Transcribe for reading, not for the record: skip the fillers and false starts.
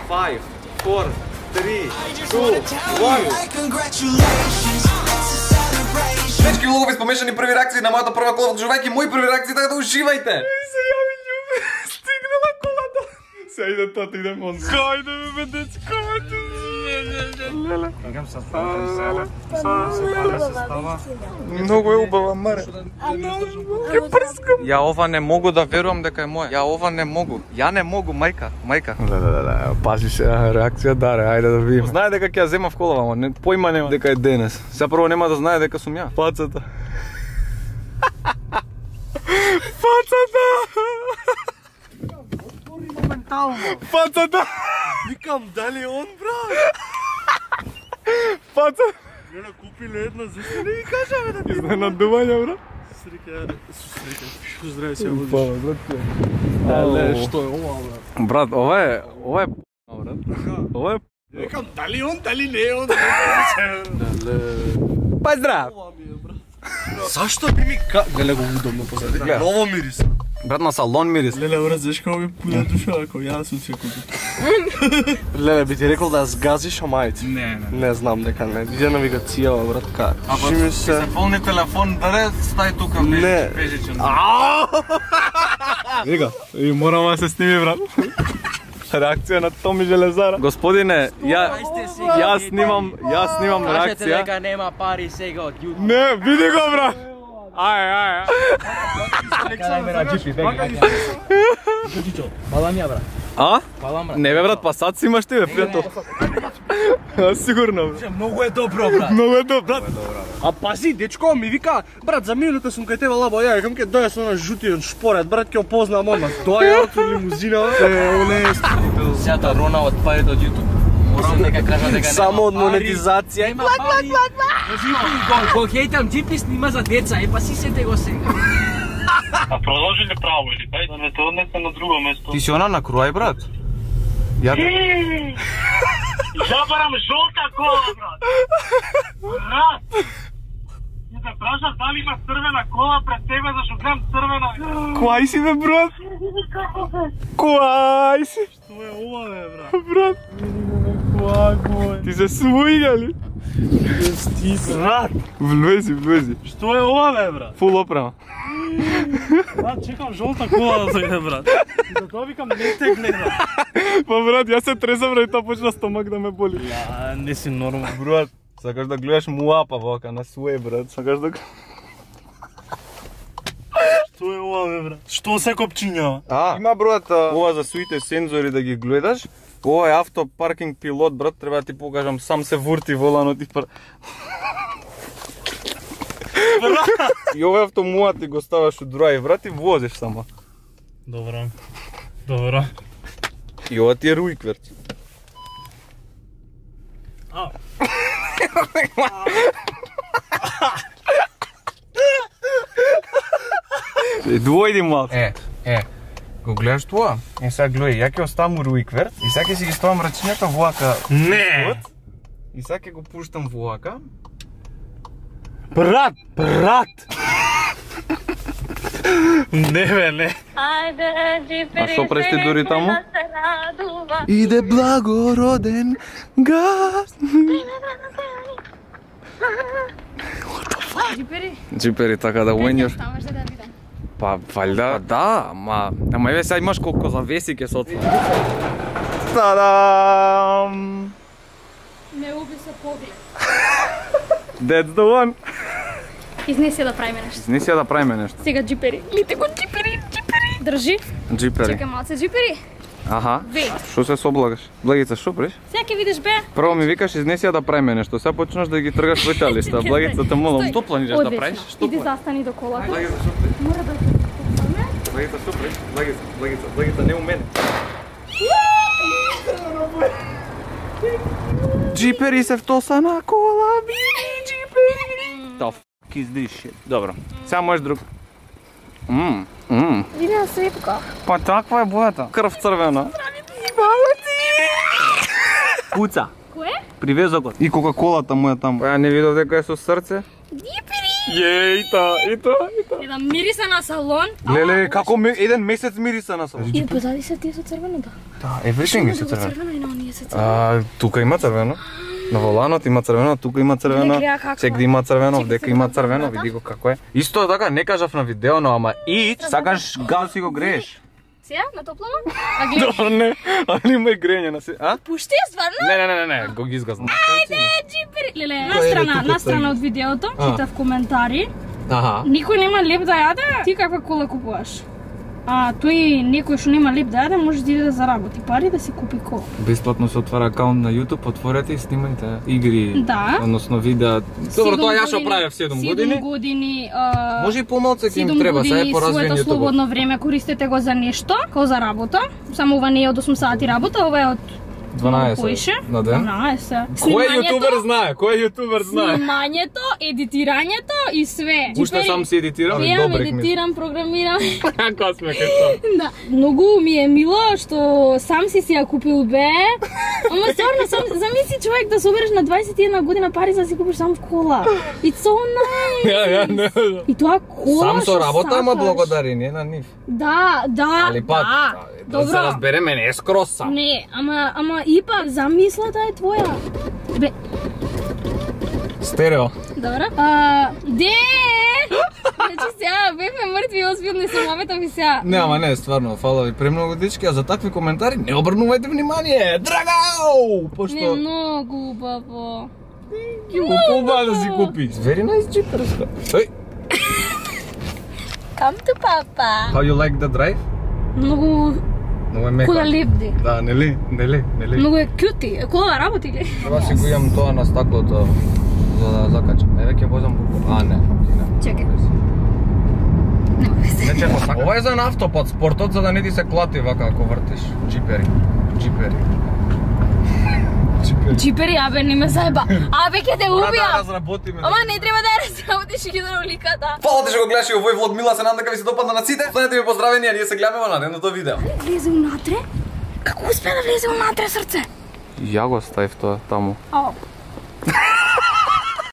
5, 4, 3, 2, 1. Дечки, лугови спомешани први реакции на мојата прва кола вклучувајќи мои први реакции, така да уживајте. Се ја ми љуби, стигнала колата. Се иде тата, идем он. Кајде бе, дечко, леле. Многу е убава, маре. Ке прскам. Ја ова не могу да верувам дека е моја. Ја ова не могу. Ја не могу, мајка. Леле, пази се, реакција даре, ајде да видиме. Знае дека ќе ја зема в колава, ама поима нема дека е денес. Сега прво нема да знае дека сум ја. Пацата. Пацата! Моментално. Пацата! Викам, дали он, брат? Пацата! Леле, купиле една, зашто не ги кажа, бе, да ти... Изненадување, брат. Срика, шо здраве се ја водиш. Пала, брат. Леле, што е ова, брат? Брат, ова е брат. Ова е Викам, дали он, дали не он? Леле... Поздрав. Ова ми е, брат. Зашто би ми Леле, го удобно позади. Ново мирис. Брат, на салон мирис. Леле, брат, знаеш како ми пуна душа, ако ја сум се купил. Леле, би ти рекол да сгазиш, ама ајде. Не знам дека не. Иде навигацијава, брат, ка. Ако се полни телефон, даре, стај тука бежичен. Вика, и морам да се сними, брат. Реакција на Томи Железара. Господине, јас снимам Кажете реакција. дека нема пари сега од YouTube. Не, види го, брат. Ај. Кај ме на джипи, беги. Балам ја, брат. А? Балам, брат. Не бе, брат, па сад си имаш ти, бе, пријател. Сигурно, брат. Многу е добро, брат. Многу е добро, брат. А пази, дечко ми вика, брат, за минута сум кај тебе лабо, ја викам ке доја со на жутиот шпорет, брат, ќе опознам одма. Доја од лимузина, Сјата рона од парите од YouTube. Морам дека кажа дека само од монетизација. Нема пари. Го хейтам, джипи снима за деца, па си сете го сега. А продолжи ли право или тај да не те однесе на друго место? Ти си она на круај, брат? Ја Забарам жолта кола, брат! Брат! Ти те прашав дали има црвена кола пред тебе, зашто гледам црвена. Кој си, бе, брат? Кој си? Што е ова, бе, брат? Брат. Кој? Ти се свујгали? Брат! Влези. Што е ова, бе, брат? Фул опрема. Брат, чекам жолта кола да дојде, брат. И за тоа викам, не те гледам. Па, брат, јас се тресам, брат, и тоа почна стомак да ме боли. Ја, не си нормал. Брат, сакаш да гледаш муапа вака на свое, брат. Сакаш да... Што е ова, бе, брат? Што се копчињава? Има, брат, ова за суите сензори да ги гледаш. Ова е автопаркинг пилот, брат, треба да ти покажам, сам се вурти воланот и И ова автомуат ти го ставаш у драйв, брат, и возиш само. Добро. И ова ти е руикверт. Двојди малку. Го гледаш тоа? И сега гледај, ја ќе оставам руикверт и сега ќе си ги ставам рачињата воака. Не! И сега ќе го пуштам воака. Брат! Не, бе, не. А што прести дури таму? Иде благороден газ. Джипери, така да when you're... Па, валјда, да, ама еве сега имаш колко завеси ке се отвори. Тадам! Не уби се поглед. That's the one! Изнеси ја да правиме нешто. Сега джипери. Лите го джипери. Држи. Джипери. Чекај малце джипери. Аха. Веј. Шо се соблагаш? Благица, шо преш? Сега ќе видиш бе. Прво ми викаш изнеси ја да правиме нешто, сега почнаш да ги тргаш веталишта. Благица те молам. Што планираш да правиш? Иди застани до колата. Благица, шо преш? Мора да Благица, шо преш? Благица, не у мене. Джипери се втоса на кола, джипери. The f*** is this shit? Добро. Сега можеш друг. Види на светка. Па таква е бојата. Крв црвена. Пуца. Кое? Привезокот. И кока-колата му е таму. Па ја не видов дека е со срце. Джипери. И тоа. Еден мириса на салон. Леле, како еден месец мириса на салон. И позади се тие со црвеното. Да, everything е со црвено. Црвено и на се црвено? Тука има црвено. На воланот има црвено, тука има црвено. Сегде има црвено, вдека има црвено, види го како е. Исто така не кажав на видео, но ама и сакаш гаси го грееш. Сега на топлама? А гледаш? Не, али има и грење на се. А? Пушти ја стварно? Не, го ги изгазнам. Ајде, джипери. Леле, настрана од видеото, читав коментари. Аха. Никој нема леп да јаде, ти каква кола купуваш? Тој некој што нема леп да јаде, може да иде да заработи пари да си купи кола. Бесплатно се отвара акаунт на YouTube, отворете и снимајте игри, Да. односно видеа. Добро, тоа ја што правев 7 години. 7 години, Може и помалку ќе им 7 треба, сега е години поразвиен своето YouTube. слободно време користете го за нешто, како за работа. Само ова не е од 8 сати работа, ова е од 12 на ден. 12. Кој јутубер знае? Кој јутубер знае? Снимањето, едитирањето и све. Уште сам си едитирам и Јам, добрек ми. едитирам, програмирам. Како сме кај тоа? Да. Многу ми е мило што сам си ја купил бе. Ама стварно, замисли човек да собереш на 21 година пари за да си купиш сам кола. It's so nice. Не. И тоа кола Сам со што работа, ама сакаш. благодарение на нив. Да. Али пак, Да. да се Добро. разбереме, не е скроз сам. Не, ама ипак замислата е твоја. Бе, Стерео. добро. Де! Значи сега бевме мртви, озбилни самовета ми сега. Не, ама не, стварно, фала ви премногу дечки, а за такви коментари не обрнувајте внимание. Драгау! Не, Пошто многу убаво. купува да си купи. Very nice джиперска. Ој, Come to papa. how you like the drive? Многу Много е мека. кола лепди. Да, нели? Многу е кјути. Кола работи ли? Треба си го имам тоа на стаклото за да закачам. Еве ќе возам буко. Не. Чекај. Нема везе. Не чекам стаклото. Ова е за автопат спортот, за да не ти се клати вака ако вртиш. Джипери. Джипери, абе, не ме заеба. Абе, ќе те убија. разработиме. Ама не треба да ја разработиш хидравликата. Фала ти што го гледаш и овој влог, мила се надам дека ви се допадна на сите. Следете ми поздравени, а ние се гледаме во наредното видео. Влезе унатре? Како успе да влезе унатре, срце? Ја го ставив тоа таму. Ау.